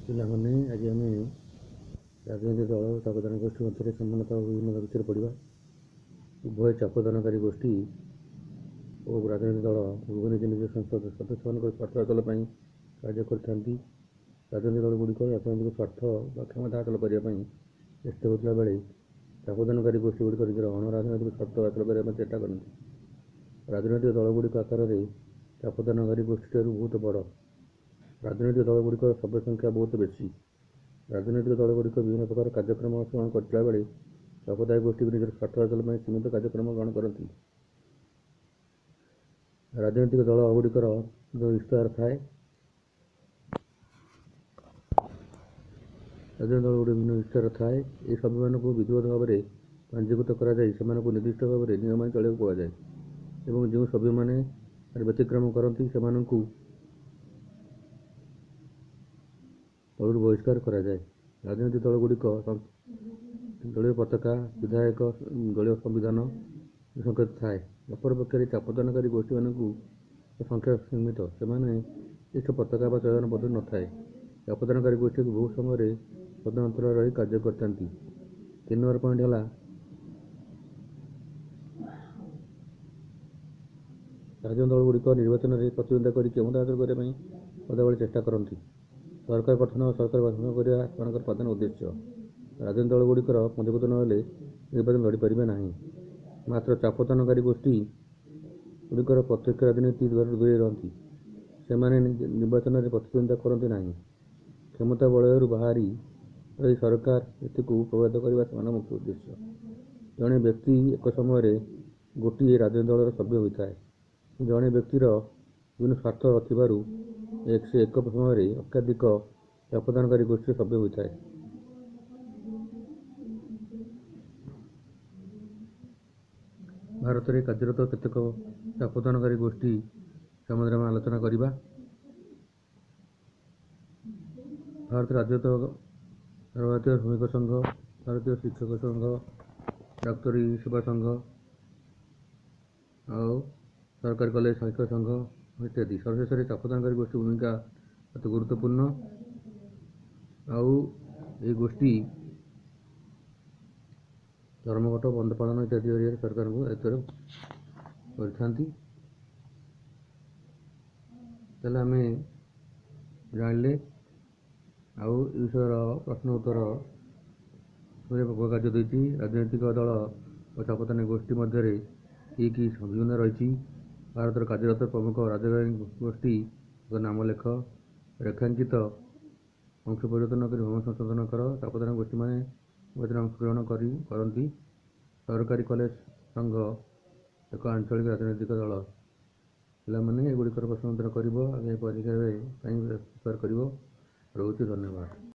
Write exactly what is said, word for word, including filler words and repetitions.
ପିଲାମାନେ, ଆଜି ଆମେ ରାଜନୈତିକ ଦଳ ଓ ଚାପଦାନ ଗୋଷ୍ଠୀ ମଧ୍ୟରେ ସମାନତା ଓ ବିଭିନ୍ନତା ବିଷୟରେ ପଢ଼ିବା। ଉଭୟ ଚାପଦାନକାରୀ ଗୋଷ୍ଠୀ ଓ ରାଜନୈତିକ ଦଳ ଉଭୟ ନିଜ ନିଜ ସଂସଦ ସଦସ୍ୟମାନଙ୍କ ସ୍ୱାର୍ଥ ହାସଲ ପାଇଁ କାର୍ଯ୍ୟ କରିଥାନ୍ତି। ରାଜନୈତିକ ଦଳଗୁଡ଼ିକ ରାଜନୈତିକ ସ୍ୱାର୍ଥ ବା କ୍ଷମତା ହାସଲ କରିବା ପାଇଁ ଚେଷ୍ଟା ହେଉଥିଲା ବେଳେ ଚାପଦାନକାରୀ ଗୋଷ୍ଠୀଗୁଡ଼ିକ ନିଜର ଅଣରାଜନୈତିକ ସ୍ୱାର୍ଥ ହାସଲ କରିବା ପାଇଁ ଚେଷ୍ଟା କରନ୍ତି। ରାଜନୈତିକ ଦଳଗୁଡ଼ିକ ଆକାରରେ ଚାପଦାନକାରୀ ଗୋଷ୍ଠୀଠାରୁ ବହୁତ ବଡ଼। ରାଜନୈତିକ ଦଳଗୁଡ଼ିକର ସଭ୍ୟ ସଂଖ୍ୟା ବହୁତ ବେଶୀ। ରାଜନୈତିକ ଦଳଗୁଡ଼ିକ ବିଭିନ୍ନ ପ୍ରକାର କାର୍ଯ୍ୟକ୍ରମ ଗ୍ରହଣ କରିଥିଲା ବେଳେ ଚାପଦାୟୀ ଗୋଷ୍ଠୀ ନିଜର ସ୍ୱାର୍ଥ ହାସଲ ପାଇଁ ସୀମିତ କାର୍ଯ୍ୟକ୍ରମ ଗ୍ରହଣ କରନ୍ତି। ରାଜନୈତିକ ଦଳ ଗୁଡ଼ିକର ଇସ୍ତହାର ଥାଏ। ରାଜନୈତିକ ଦଳଗୁଡ଼ିକ ବିଭିନ୍ନ ଇସ୍ତହାର ଥାଏ। ଏହି ସଭ୍ୟମାନଙ୍କୁ ବିଧିବଦ୍ଧ ଭାବରେ ପଞ୍ଜୀକୃତ କରାଯାଇ ସେମାନଙ୍କୁ ନିର୍ଦ୍ଦିଷ୍ଟ ଭାବରେ ନିୟମ ମାନି ଚଳିବାକୁ କୁହାଯାଏ ଏବଂ ଯେଉଁ ସଭ୍ୟମାନେ ଏହାର ବ୍ୟତିକ୍ରମ କରନ୍ତି, ସେମାନଙ୍କୁ ଦଳରୁ ବହିଷ୍କାର କରାଯାଏ। ରାଜନୈତିକ ଦଳଗୁଡ଼ିକ ଦଳୀୟ ପତାକା, ବିଧାୟକ, ଦଳୀୟ ସମ୍ବିଧାନ ସଂକେତ ଥାଏ। ଅପରପକ୍ଷରେ ଚାପଦାନକାରୀ ଗୋଷ୍ଠୀମାନଙ୍କୁ ସଂଖ୍ୟା ସୀମିତ। ସେମାନେ ନିର୍ଦ୍ଦିଷ୍ଟ ପତାକା ବା ଚୟନ ପଦ୍ଧତି ନଥାଏ। ଚାପଦାନକାରୀ ଗୋଷ୍ଠୀକୁ ବହୁ ସମୟରେ ସ୍ୱତନ୍ତ୍ର ରହି କାର୍ଯ୍ୟ କରିଥାନ୍ତି। ତିନି ନମ୍ବର ପଏଣ୍ଟ ହେଲା, ରାଜନୈତିକ ଦଳଗୁଡ଼ିକ ନିର୍ବାଚନରେ ପ୍ରତିଦ୍ୱନ୍ଦ୍ୱିତା କରି କ୍ଷମତା ହାସଲ କରିବା ପାଇଁ ସଦାବେଳେ ଚେଷ୍ଟା କରନ୍ତି। ସରକାର ଗଠନ ଓ ସରକାର ଗଠନ କରିବା ସେମାନଙ୍କର ପ୍ରଧାନ ଉଦ୍ଦେଶ୍ୟ। ରାଜନୈତିକ ଦଳଗୁଡ଼ିକର ପଞ୍ଜୀକୃତ ନହେଲେ ନିର୍ବାଚନ ଲଢ଼ିପାରିବେ ନାହିଁ। ମାତ୍ର ଚାପଦାନକାରୀ ଗୋଷ୍ଠୀ ଗୁଡ଼ିକର ପ୍ରତ୍ୟକ୍ଷ ରାଜନୀତି ଦୂରେଇ ରହନ୍ତି। ସେମାନେ ନିର୍ବାଚନରେ ପ୍ରତିଦ୍ୱନ୍ଦ୍ୱିତା କରନ୍ତି ନାହିଁ। କ୍ଷମତା ବଳୟରୁ ବାହାରି ରହି ସରକାର ନୀତିକୁ ପ୍ରଭାବିତ କରିବା ସେମାନଙ୍କ ମୁଖ୍ୟ ଉଦ୍ଦେଶ୍ୟ। ଜଣେ ବ୍ୟକ୍ତି ଏକ ସମୟରେ ଗୋଟିଏ ରାଜନୈତିକ ଦଳର ସଭ୍ୟ ହୋଇଥାଏ। ଜଣେ ବ୍ୟକ୍ତିର ବିଭିନ୍ନ ସ୍ୱାର୍ଥ ଥିବାରୁ ସେ ଏକ ସମୟରେ ଏକାଧିକ ଚାପଦାନକାରୀ ଗୋଷ୍ଠୀର ସଭ୍ୟ ହୋଇଥାଏ। ଭାରତରେ କାର୍ଯ୍ୟରତ କେତେକ ଚାପଦାନକାରୀ ଗୋଷ୍ଠୀ ସମ୍ବନ୍ଧରେ ଆମେ ଆଲୋଚନା କରିବା। ଭାରତରେ କାର୍ଯ୍ୟରତ ଭାରତୀୟ ଶ୍ରମିକ ସଂଘ, ଭାରତୀୟ ଶିକ୍ଷକ ସଂଘ, ଡାକ୍ତରୀ ସେବା ସଂଘ ଆଉ ସରକାରୀ କଲେଜ ଶିକ୍ଷକ ସଂଘ ଇତ୍ୟାଦି। ସର୍ବଶେଷରେ ଚାପଦାନକାରୀ ଗୋଷ୍ଠୀ ଭୂମିକା ଅତି ଗୁରୁତ୍ୱପୂର୍ଣ୍ଣ। ଆଉ ଏହି ଗୋଷ୍ଠୀ ଧର୍ମଘଟ, ବନ୍ଦ ପାଳନ ଇତ୍ୟାଦି ଜରିଆରେ ସରକାରଙ୍କୁ ଦାୟିତ୍ୱରେ କରିଥାନ୍ତି। ତାହେଲେ ଆମେ ଜାଣିଲେ ଆଉ ଏ ବିଷୟର ପ୍ରଶ୍ନ ଉତ୍ତର କାର୍ଯ୍ୟ ଦେଇଛି। ରାଜନୈତିକ ଦଳ ଓ ଚାପଦାନୀ ଗୋଷ୍ଠୀ ମଧ୍ୟରେ କି କି ବିଭିନ୍ନ ରହିଛି? ଭାରତର କାର୍ଯ୍ୟରତ ପ୍ରମୁଖ ରାଜନୈତିକ ଗୋଷ୍ଠୀ ନାମ ଲେଖ। ରେଖାଙ୍କିତ ଅଂଶ ପରିବର୍ତ୍ତନ କରି ଭ୍ରମ ସଂଶୋଧନ କର। ଚାପଦାନ ଗୋଷ୍ଠୀମାନେ ନିର୍ବାଚନରେ ଅଂଶଗ୍ରହଣ କରି କରନ୍ତି। ସରକାରୀ କଲେଜ ସଂଘ ଏକ ଆଞ୍ଚଳିକ ରାଜନୈତିକ ଦଳ। ପିଲାମାନେ, ଏଗୁଡ଼ିକର ପ୍ରଶ୍ନ ଉତ୍ତର କରିବ, ଆଗାମୀ ପରୀକ୍ଷା ପାଇଁ ପ୍ରିପେୟାର କରିବ। ରହୁଛି, ଧନ୍ୟବାଦ।